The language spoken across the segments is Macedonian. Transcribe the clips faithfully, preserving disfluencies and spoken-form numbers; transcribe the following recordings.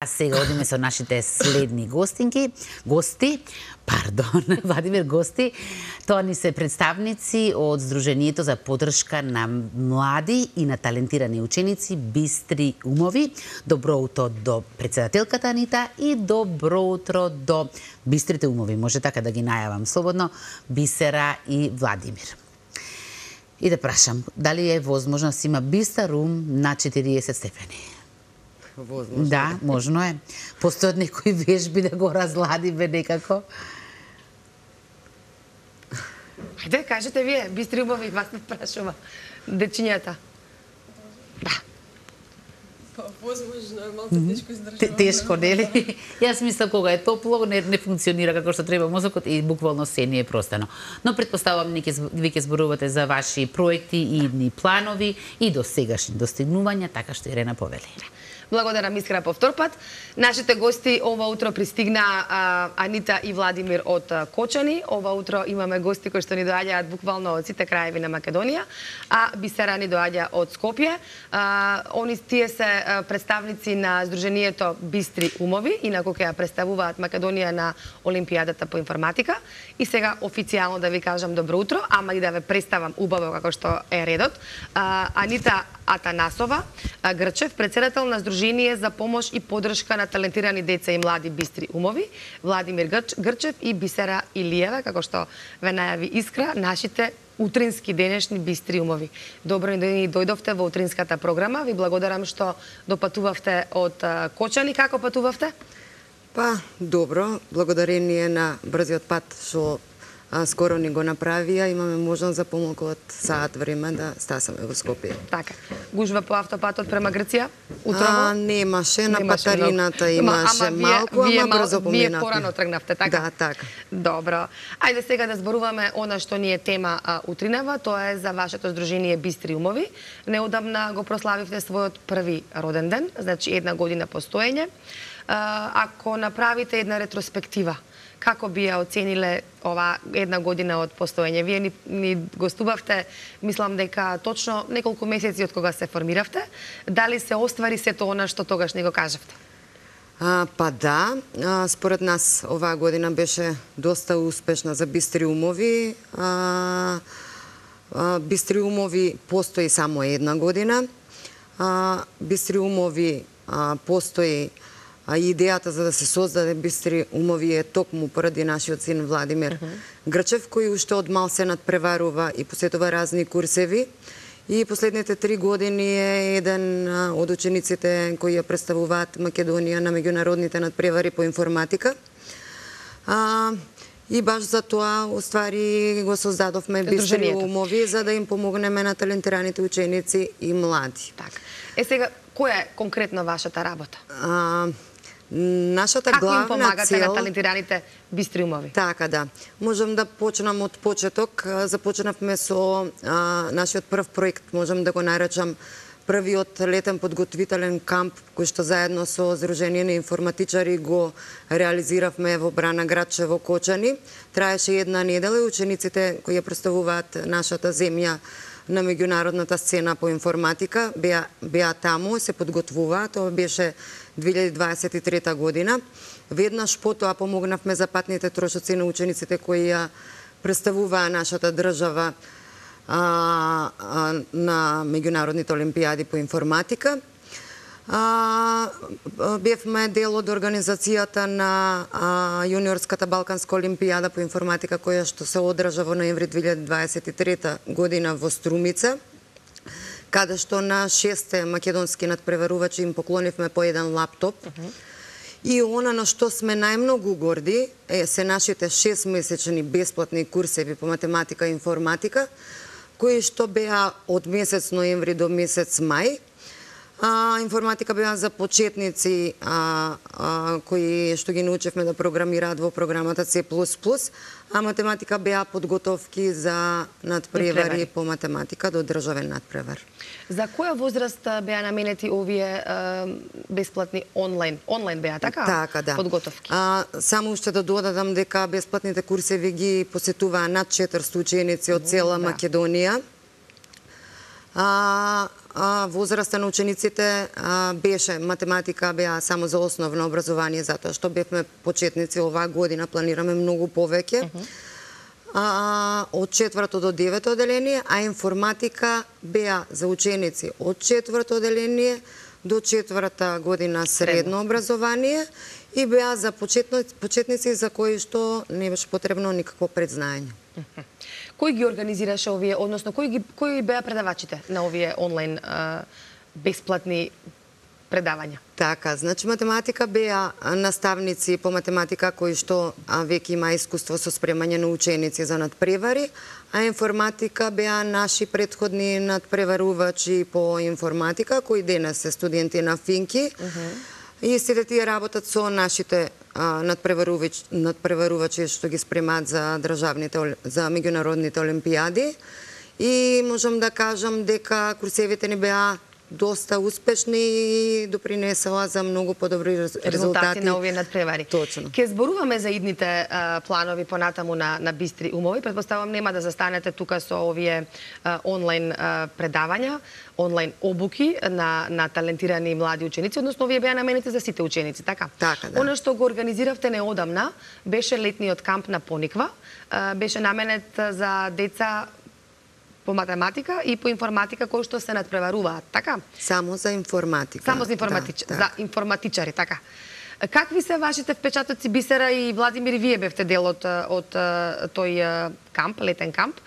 сега одиме со нашите следни гостинки, гости, пардон, Владимир гости. Тоа ни се представници од Сдруженијето за поддршка на млади и на талентирани ученици Бистри умови. Добро утро до председателката Анита и добро утро до Бистрите умови. Може така да ги најавам слободно, Бисера и Владимир. И да прашам, дали е возможно да си има бистар ум на четириесет степени? Возможно. Да, можно е. Постојат некои вежби да го разладиме некако? Ајде, кажете вие, бистри умови, вас не прашува. Дечињата. Да. Па, возможно е, малку тешко издржуваме. Тешко, нели? Јас мислам кога е топло, не, не функционира како што треба мозокот и буквално се не е простено. Но предпоставувам вие ќе зборувате за ваши проекти и идни планови и до сегашни достигнувања, така што Ирена повели. Благодарам искрено по втор пат. Нашите гости ова утро пристигна а, Анита и Владимир од а, Кочани. Ова утро имаме гости кои што ни доаѓаат буквално од сите краеви на Македонија, а Бисера ни доаѓа од Скопје. А, они тие се а, представници на Сдруженијето Бистри умови, инаку ќе ја представуваат Македонија на Олимпијадата по информатика. И сега официјално да ви кажам добро утро, ама и да ве представам убаво како што е редот. А, Анита Атанасова Грчев, председател на Сдружение за помош и поддршка на талентирани деца и млади Бистри умови, Владимир Грчев и Бисера Илиева, како што ве најави Искра, нашите утрински денешни Бистри умови. Добро ни дојдовте во утринската програма. Ви благодарам што допатувавте од Кочани. Како патувавте? Па, добро. Благодарение на брзиот пат што А, скоро ни го направија, имаме можност за помалку од саат време да стасаме во Скопје. Така. Гужва по автопатот према Грција? Утрово? А, немаше, на Патарината имаше ама, малку, вие, ама брзо поминавме. Вие порано тргнавте, така? Да, така. Добро. Ајде сега да зборуваме она што ни е тема а, утринава, тоа е за вашето Сдружение Бистри умови. Неодамна го прославивте својот први роден ден, значи една година постоење. А, ако направите една ретроспектива, како би ја оцениле ова една година од постоење? Вие ни, ни гостувавте, мислам дека точно неколку месеци од кога се формиравте. Дали се оствари сето она што тогаш ни го кажавте? А, па да, а, според нас оваа година беше доста успешна за Бистри умови. А, а, Бистри умови постои само една година. А, Бистри умови а, постои А идејата за да се создаде Бистри умови е токму поради нашиот син Владимир uh -huh. Грчев, кој уште од мал се надпреварува и посетува разни курсеви. И последните три години е еден од учениците кои ја представуваат Македонија на меѓународните надпревари по информатика. А, и баш за тоа, уствари, го создадовме Бистри умови, за да им помогнеме на талентираните ученици и млади. Така. Е сега, која е конкретно вашата работа? А, Нашата Како главна им помагате цел... на талентираните Бистри умови? Така, да. Можам да почнам од почеток. Започнавме со а, нашиот прв проект, можам да го наречам првиот летен подготвителен камп, кој што заедно со Сдружение на информатичари го реализиравме во Брана градче во Кочани. Траеше една недела и учениците кои ја представуваат нашата земја на меѓународната сцена по информатика беа, беа таму, се подготвуваа. Тоа беше две илјади дваесет и трета година. Веднаш потоа помогнавме за патните трошоци на учениците кои ја представуваа нашата држава а, а, на меѓународните олимпијади по информатика. А, бевме дел од организацијата на а, јуниорската Балканска олимпијада по информатика која што се одржа во ноември две илјади дваесет и трета година во Струмица, каде што на шесте македонски надпреварувачи им поклонивме по еден лаптоп. Uh -huh. И она на што сме најмногу горди е се нашите шестмесечни бесплатни курсеви по математика и информатика, кои што беа од месец ноември до месец мај. А, информатика беа за почетници а, а, кои што ги научевме да програмираат во програмата С плюс плюс, а математика беа подготовки за надпревари по математика до државен надпревар. За која возраст беа наменети овие а, бесплатни онлайн? Онлайн беа, така? Така, да. Подготовки. А, само уште да додадам дека бесплатните курсеви ги посетуваа над четиристотини ученици од цела да. Македонија. А, а, возраста на учениците а, беше математика беа само за основно образование, затоа што бевме почетници оваа година, планираме многу повеќе. Uh -huh. а, од четврто до девето оделение, а информатика беа за ученици од четврто оделение до четврта година средно образование и беа за почетници за кои што не беше потребно никакво предзнаење. Кој ги организираше овие, односно кои ги кои беа предавачите на овие онлайн а, бесплатни предавања? Така, значи математика беа наставници по математика кои што а, веќе има искуство со спремање на ученици за надпревари, а информатика беа наши претходни надпреварувачи по информатика кои денес се студенти на Финки. Uh -huh. И сите тие работат со нашите надпреварувачи, надпреварувачи што ги спремаат за државните, за меѓународните олимпијади. И можам да кажам дека курсевите ни беа доста успешни и допринесела за многу подобри резултати, резултати на овие надпревари. Точно. Ке зборуваме за идните а, планови понатаму на, на Бистри умови. Предпоставам нема да застанете тука со овие а, онлайн а, предавања, онлайн обуки на, на талентирани млади ученици, односно овие беа наменети за сите ученици, така? Така, да. Оно што го организиравте неодамна беше летниот камп на Пониква, а, беше наменет за деца по математика и по информатика кои што се надпреваруваат, така? Само за информатика. Само за информатич... да, за информатичари, така. Какви се вашите впечатоци, Бисера и Владимир, и вие бевте дел од, од тој камп, летен камп?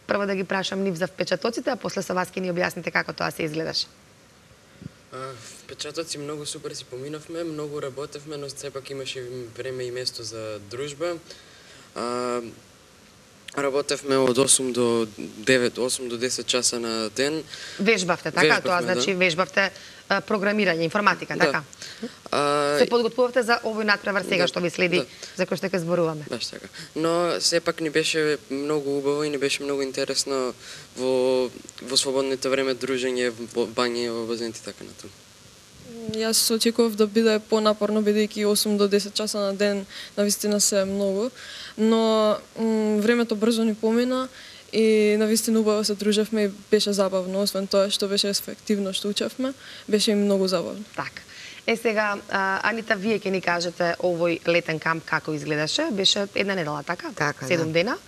Прво да ги прашам нив за впечатоците, а после со вас ќе ни објасните како тоа се изгледаше. Впечатоци многу супер си поминавме, многу работевме, но сепак имаше време и место за дружба. А, Работевме од осум до девет, осум до десет часа на ден. Вежбавте, така? Вежбавме, Тоа значи да. вежбавте а, програмирање, информатика, да. така? А, се подготвувавте за овој надпревар сега да, што ви следи, да. за кој што ќе зборуваме. Баш така. Но сепак ни беше многу убаво и ни беше многу интересно во во слободното време дружење, во бање, во базенти, така натаму. Јас очекував да биде понапорно, бидејќи осум до десет часа на ден навистина се многу, но времето брзо ни помина и навистина убаво се дружевме и беше забавно, освен тоа што беше ефективно што учевме, беше и многу забавно. Така. Е сега, а, Анита, вие ќе ни кажете овој летен камп како изгледаше? Беше една недела, така? Така, Седум да. дена.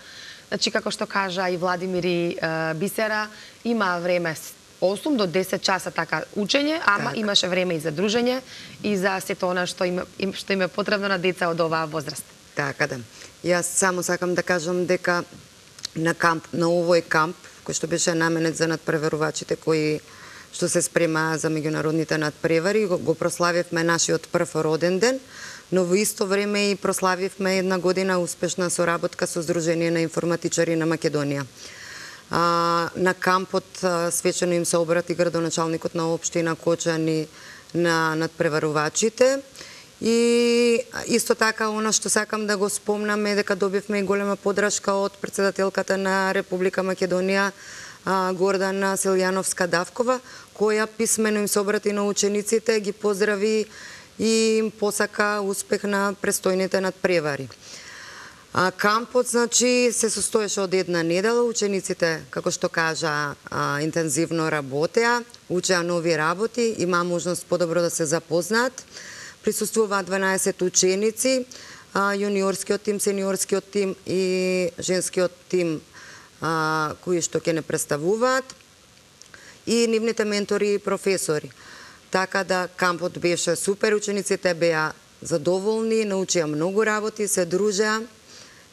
Значи, како што кажа и Владимир и а, Бисера, има време осум до десет часа така учење, ама така. Имаше време и за дружење и за сето она што им, што им е потребно на деца од оваа возраст. Така да. Јас само сакам да кажам дека на камп, на овој камп, кој што беше наменет за надпреварувачите кои што се спрема за меѓународните надпревари, го, го прославивме нашиот прв роден ден, но во исто време и прославивме една година успешна соработка со Сдружение на информатичари на Македонија. А, на кампот а, свечено им се обрати градоначалникот на општина Кочани на надпреварувачите. И исто така, она што сакам да го спомнам е дека добивме и голема подршка од председателката на Република Македонија, Гордана Силјановска-Давкова, која писмено им се обрати на учениците, ги поздрави и им посака успех на престојните надпревари. А, кампот, значи, се состоеше од една недела. Учениците, како што кажа, а, интензивно работеа, учеа нови работи, има можност подобро да се запознаат. Присуствуваат дванаесет ученици, а, јуниорскиот тим, сениорскиот тим и женскиот тим, а, кои што ќе не представуваат, и нивните ментори и професори. Така да кампот беше супер, учениците беа задоволни, научија многу работи, се дружеа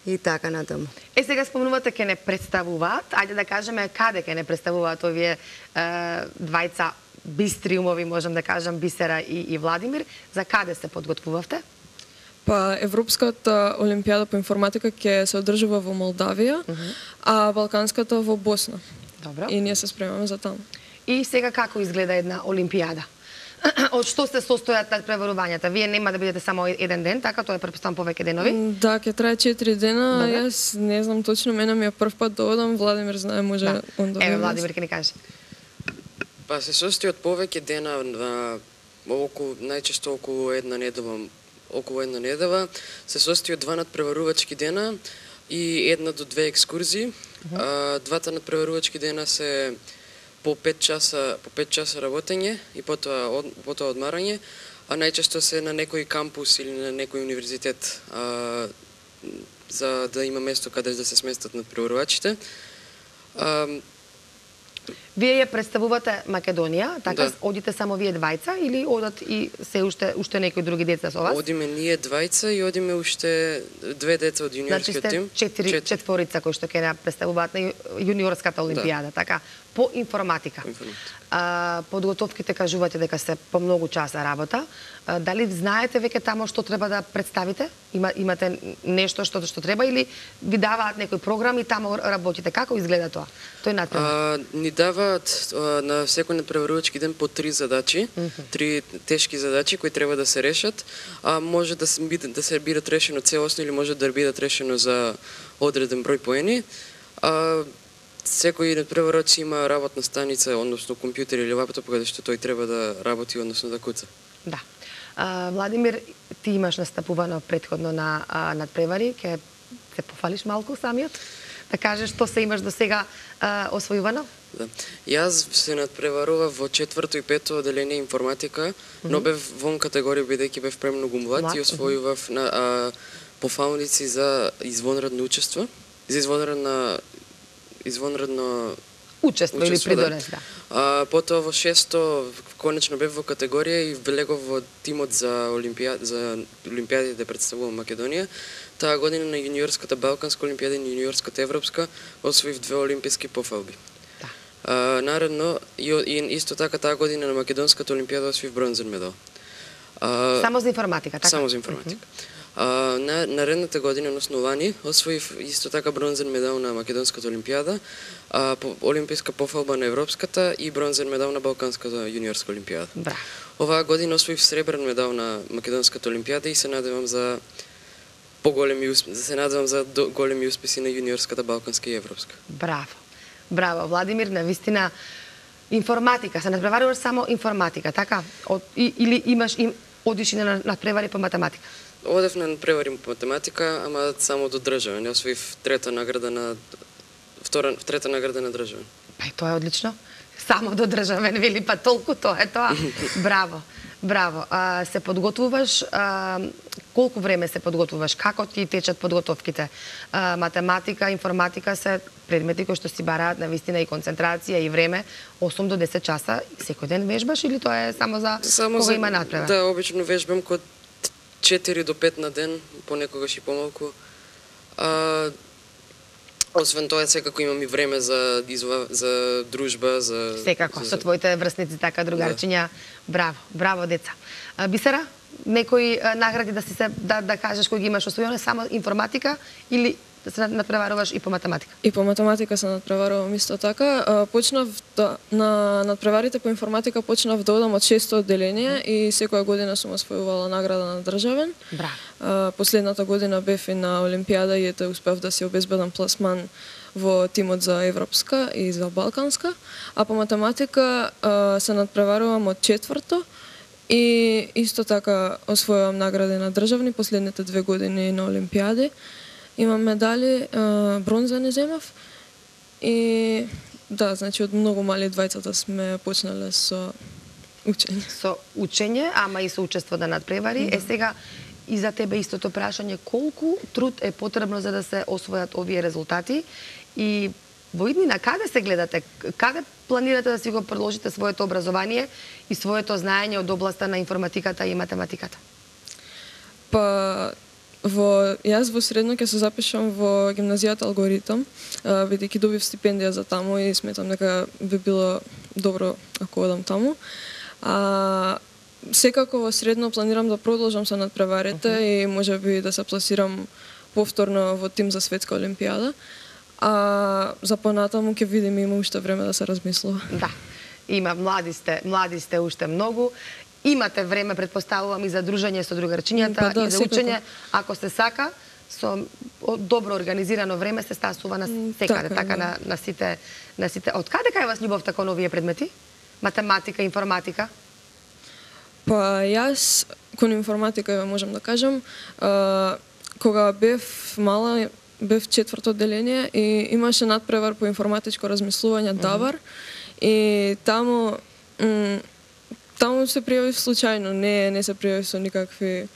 и така натаму. Е, сега спомнувате ке не представуваат, ајде да кажеме каде ке не представуваат овие е, двајца бистри умови, можам да кажам, Бисера и, и Владимир. За каде се подготвувавте? Па Европската олимпијада по информатика ќе се одржува во Молдавија, uh -huh. а Балканската во Босна. Добро. И ние се спремаме за таму. И сега како изгледа една олимпијада? Од што се состојат надпреварувањата? Вие нема да бидете само еден ден, така? Тоа е претпоставам повеќе денови? Да, ќе трае четири дена. Добре. Јас не знам точно, мене ми е прв пат да одам, Владимир знае, може Да. он да. Еве, Владимир ќе ни каже. Па се состои од повеќе дена, на околу најчесто околу една недела, околу една недела, се состои од два надпреварувачки дена и една до две екскурзии. Uh -huh. а, двата надпреварувачки дена се по пет часа по пет часа работење и потоа од, потоа одмарање, а најчесто се на некој кампус или на некој универзитет, а, за да има место каде да се сместат надпреварувачите. А, Вие ја представувате Македонија, така Да. одите само вие двајца или одат и се уште уште некои други деца со вас? Одиме ние двајца и одиме уште две деца од Значи јуниорскиот сте тим. четири, четворица кои што ќе ја представуваат на јуниорската олимпијада, така, по информатика. По информатика. А, подготовките кажувате дека се по многу часа работа. А, дали знаете веќе тамо што треба да представите? Има, имате нешто што што треба или ви даваат некој програм и тамо работите? Како изгледа тоа? Тој натпревар. А, ни даваат а, на секој надпреварувачки ден по три задачи, три тешки задачи кои треба да се решат, а може да се биде да се бидат решено целосно или може да бидат решено за одреден број поени. А, секој надпреварач има работна станица, односно компјутер или лаптоп каде што тој треба да работи, односно да куца. Да. А, Владимир, ти имаш настапувано претходно на а, надпревари, ќе се пофалиш малку самиот? Да кажеш што се имаш до сега а, освојувано? Да. Јас се надпреварував во четврто и пето одделение информатика, но бев вон категорија бидејќи бев премногу млад Млад, и освојував на а, пофалници за извонредно учество, за извонредна извонредно Учество или учество, да. придонес, да. А, потоа во шесто конечно бев во категорија и влегов во тимот за олимпијад за олимпијадите представувам Македонија. Таа година на јуниорската Балканска олимпијада и јуниорската Европска освоив две олимписки пофалби. Да. А, наредно и, и исто така таа година на македонската олимпијада освоив бронзен медал. А, Само за информатика, така? Само за информатика. А, на наредната година, односно лани, освоив исто така бронзен медал на македонската олимпијада, а, по, олимписка пофалба на европската и бронзен медал на балканската јуниорска олимпијада. Браво. Оваа година освоив сребрен медал на македонската олимпијада и се надевам за поголеми успеси, се надевам за до, големи успеси на јуниорската балканска и европска. Браво. Браво, Владимир, навистина информатика, се надпреваруваш само информатика, така? Од, и, или имаш им одиш и на надпревари по математика? Одев на надпревари по математика, ама само до државен. Ја освоив трета награда на втора трета награда на државен. Па и тоа е одлично. Само до државен, вели, па толку тоа е тоа. Браво. Браво. А, се подготвуваш, а, колку време се подготвуваш? Како ти течат подготовките? А, математика, информатика се предмети кои што си бараат на вистина и концентрација и време, осум до десет часа. Секој ден вежбаш или тоа е само за Само кога за, има надпревар? Да, обично вежбам код четири до пет на ден, понекогаш и помалку. А, освен тоа, секако имам и време за изла, за дружба, за Секако, за... со твоите врсници, така, другарчиња. Браво, браво, деца. А, Бисера, некои а, награди да си се да, да кажеш кои ги имаш освојено, само информатика или да се надпреваруваш и по математика? И по математика се надпреварувам исто така. А, Почнав да, на надпреварите по информатика почнав да одам од шесто одделение и секоја година сум освојувала награда на државен. Браво. А, Последната година бев и на Олимпијада и ете успев да се обезбедам пласман во тимот за Европска и за Балканска. А по математика а, се надпреварувам од четврто и исто така освојувам награди на државни последните две години на Олимпијади. Имам медали, бронзени земав и да, значи од многу мали двајцата сме почнале со учење. Со учење, ама и со учество да надпревари. Е сега и за тебе истото прашање, колку труд е потребно за да се освојат овие резултати и во иднина каде се гледате? Каде планирате да си го продолжите своето образование и своето знаење од областа на информатиката и математиката? Па во јас во средно ќе се запишам во гимназијата алгоритам, бидејќи добив стипендија за таму и сметам дека би било добро ако одам таму. А, секако во средно планирам да продолжам со надпреварите uh -huh. и можеби да се пласирам повторно во тим за светска олимпијада. А за понатаму ќе видиме, има уште време да се размислува. Да. Има млади сте, млади сте уште многу. Имате време, предпоставувам, и за дружење со другарчињата, па да, и за секако. учење, ако се сака, со добро организирано време се стасува на секаде, така, така да. на, на сите на сите. Од каде кај вас љубовта кон овие предмети? Математика, информатика? Па јас кон информатика ја можам да кажам, а, кога бев мала, бев четврто одделение и имаше надпревар по информатичко размислување, Давар, И таму м, таму се пријавив случајно, не не се пријавив со никакви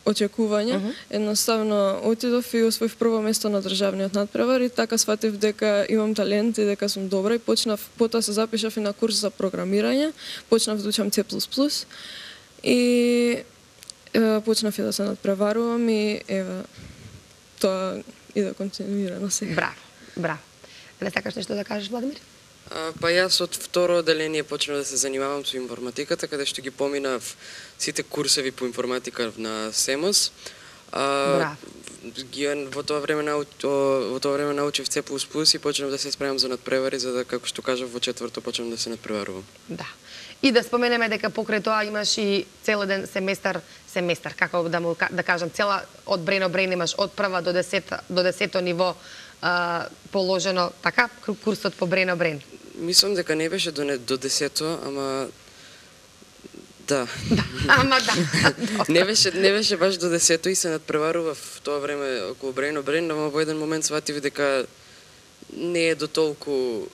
очекувања. Uh -huh. Едноставно отидов и освоив прво место на државниот надпревар и така сватив дека имам талент и дека сум добра и почнав, потоа се запишав и на курс за програмирање, почнав да учам Си плюс плюс и е, почнав и да се надпреварувам и еве тоа и да континуира на сега. Браво, браво. Не сакаш нешто да кажеш, Владимир? А, па јас од второ одделение почнав да се занимавам со информатиката, каде што ги поминав сите курсеви по информатика на СЕМОС. А, ги, во тоа време нау, во тоа време научив Си плюс плюс и почнав да се спремам за надпревари, за да, како што кажав, во четврто почнав да се надпреварувам. Да. И да споменеме дека покрај тоа имаш и цел еден семестар, семестар, како да му да кажам, цела од Брено Брен имаш од прва до десета до десето ниво а, положено, така, курсот по Брено Брен. Мислам дека не беше до, не, до десето, ама да. Да, ама да. не беше не беше баш до десето и се надпреварува в тоа време околу Брено Брен, но во еден момент сватив дека не е до толку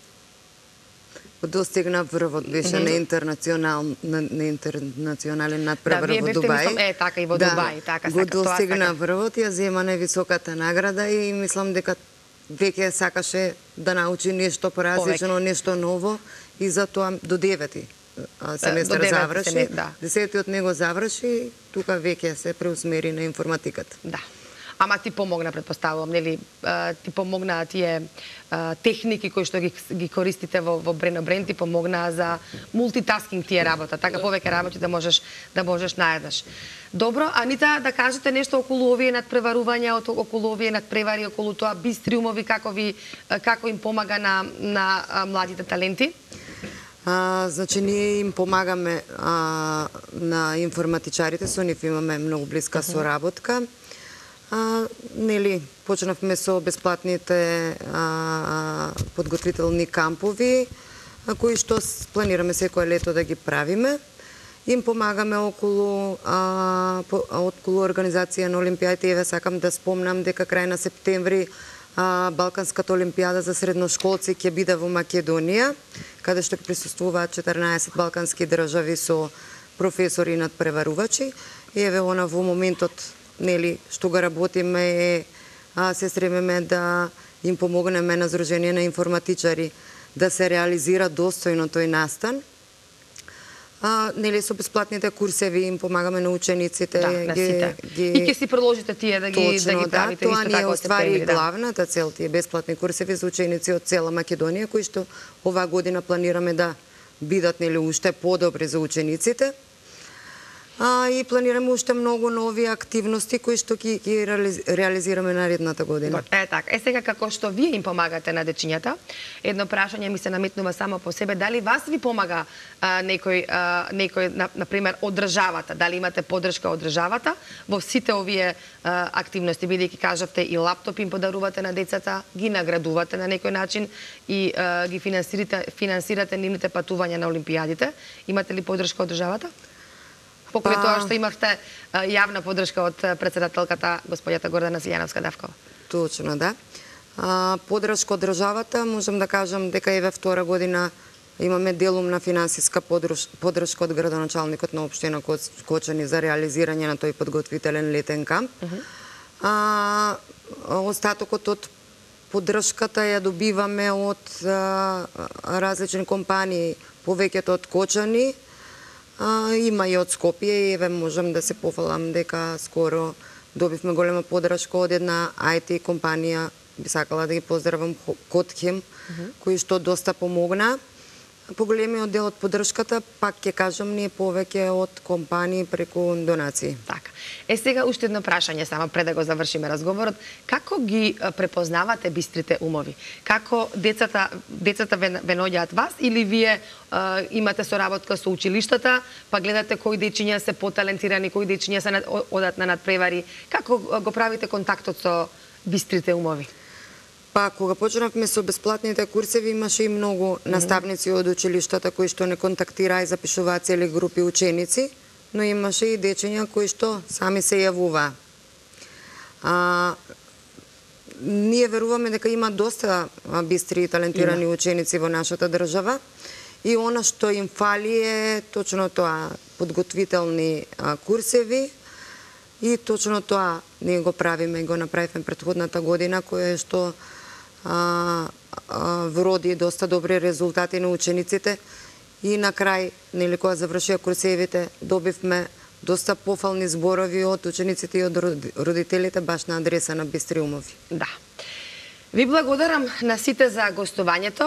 достигна врвот, беше mm -hmm. на интернационал на, на интернационален надпревар да, во Дубај. Мислам, е така и во да, Дубај, така го сака, достигна врвот, ја зема највисоката награда и мислам дека веќе сакаше да научи нешто поразлично, нешто ново и затоа до девети семестар заврши. Семестр, да. Десетиот него заврши, тука веќе се преусмери на информатиката. Да. Ама ти помогна, предпоставувам, нели, ти помогна тие техники кои што ги, ги користите во, во Брено Брен, ти помогна за мултитаскинг тие работа, така повеќе работи да можеш да можеш наеднаш. Добро, Анита, да кажете нешто околу овие надпреварувања, околу овие надпревари, околу тоа бистри умови, како ви како им помага на на младите таленти? А, значи, ние им помагаме а, на информатичарите, со нив имаме многу блиска соработка. А, нели, почнавме со бесплатните а, подготвителни кампови, а, кои што планираме секое лето да ги правиме. Им помагаме околу, а, по, околу организација на Олимпијадите. Еве сакам да спомнам дека крај на септември а, Балканската олимпијада за средношколци ќе биде во Македонија, каде што ќе присуствуваат четрнаесет балкански држави со професори и надпреварувачи. Еве она во моментот, нели, што го работиме е, а, се стремиме да им помогнеме на Сдружение на информатичари да се реализира достојно тој настан. А, нели, со бесплатните курсеви им помагаме на учениците. Да, на ги, сите. ги... И ќе си продолжите тие да ги, Точно, да ги правите да, исто така тоа од ствари септември. Да. главната цел, тие бесплатни курсеви за ученици од цела Македонија, кои што оваа година планираме да бидат, нели, уште подобри за учениците. А, и планираме уште многу нови активности кои што ги, ги реализираме наредната година. Е така. Е сега како што вие им помагате на дечињата, едно прашање ми се наметнува само по себе, дали вас ви помага а, некој а, некој на, на пример од државата, дали имате поддршка од државата во сите овие а, активности, бидејќи кажавте и лаптоп им подарувате на децата, ги наградувате на некој начин и а, ги финансирате финансирате нивните патувања на олимпијадите, имате ли поддршка од државата? Покрај па... тоа што имавте а, јавна поддршка од председателката господјата Гордана Силјановска-Давкова. Точно, да. А, поддршка од државата, можам да кажам дека еве втора година имаме делумна финансиска поддршка од градоначалникот на општина Кочани за реализирање на тој подготвителен летен камп. Uh -huh. А, остатокот од поддршката ја добиваме од а, различни компании, повеќето од Кочани, А, има и од Скопје, еве можам да се пофалам дека скоро добивме голема поддршка од една ај ти компанија, би сакала да ги поздравам, Котхем, uh -huh. кои што доста помогна. Поголемиот дел од поддршката, пак ќе кажам, ние повеќе од компании преку донации. Така. Е сега уште едно прашање само пред да го завршиме разговорот. Како ги препознавате бистрите умови? Како децата децата ве, ве наоѓаат вас или вие а, имате соработка со училиштата, па гледате кои дечиња се поталентирани, кои дечиња се одат на надпревари? Како го правите контактот со бистрите умови? Па, кога почнавме со бесплатните курсеви, имаше и многу наставници од училиштата кои што не контактираа и запишуваа цели групи ученици, но имаше и дечиња кои што сами се јавуваа. А, ние веруваме дека има доста а, бистри и талентирани има. ученици во нашата држава и она што им фали е точно тоа, подготвителни а, курсеви и точно тоа ние го правиме и го направивме претходната година, кое што а, а, вроди доста добри резултати на учениците и на крај, нели кога завршија курсевите, добивме доста пофални зборови од учениците и од родителите баш на адреса на Бистри умови. Да. Ви благодарам на сите за гостувањето.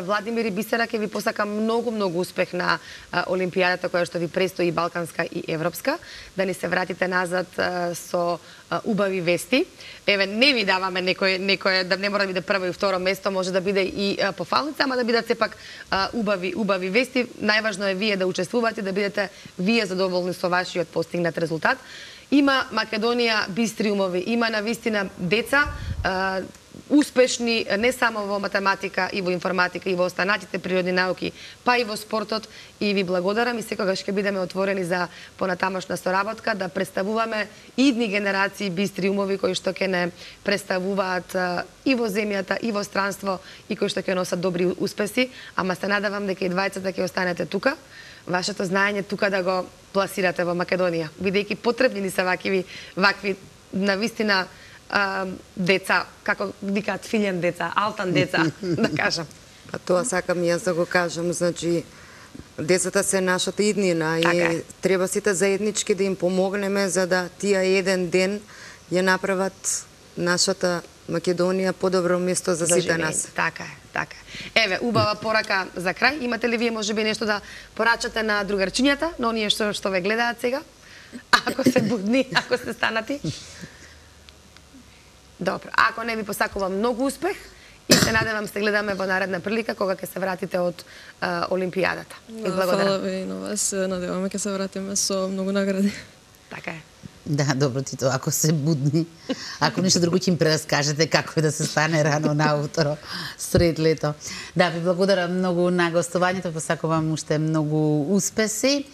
Владимир и Бисера, ќе ви посакам многу, многу успех на Олимпијадата која што ви престои, балканска и европска. Да ни се вратите назад со убави вести. Еве, не ви даваме некој, некој да не мора да биде прво и второ место, може да биде и пофалница, ама да бидат сепак убави, убави вести. Најважно е вие да учествувате, да бидете вие задоволни со вашиот постигнат резултат. Има Македонија бистри умови, има навистина деца, успешни не само во математика и во информатика и во останатите природни науки, па и во спортот, и ви благодарам и секогаш ќе бидеме отворени за понатамошна соработка да представуваме идни генерации бистри умови кои што ќе не представуваат и во земјата и во странство и кои што ќе носат добри успеси, ама се надевам дека и двајцата ќе останете тука. Вашето знаење тука да го пласирате во Македонија, бидејќи потребни ни се вакви вакви навистина Uh, деца, како викаат филјен деца, алтан деца, да кажам. А тоа сакам јас да го кажам, значи децата се нашата иднина така и е. Треба сите заеднички да им помогнеме за да тие еден ден ја направат нашата Македонија подобро место за сите нас. Така е, така е. Еве, убава порака за крај. Имате ли вие можеби нешто да порачате на другарчињата, но оние што што ве гледаат сега? Ако се будни, ако сте станати? Добро, ако не ви посакувам многу успех и се надевам се гледаме во наредна прилика кога ќе се вратите од а, Олимпијадата. Да, фала ви и на вас, надеваме ќе се вратиме со многу награди. Така е. Да, добро ти тоа, ако се будни, ако ништо друго ќе им прераскажете како е да се стане рано наутро сред лето. Да, ви благодарам многу на гостувањето, посакувам уште многу успеси.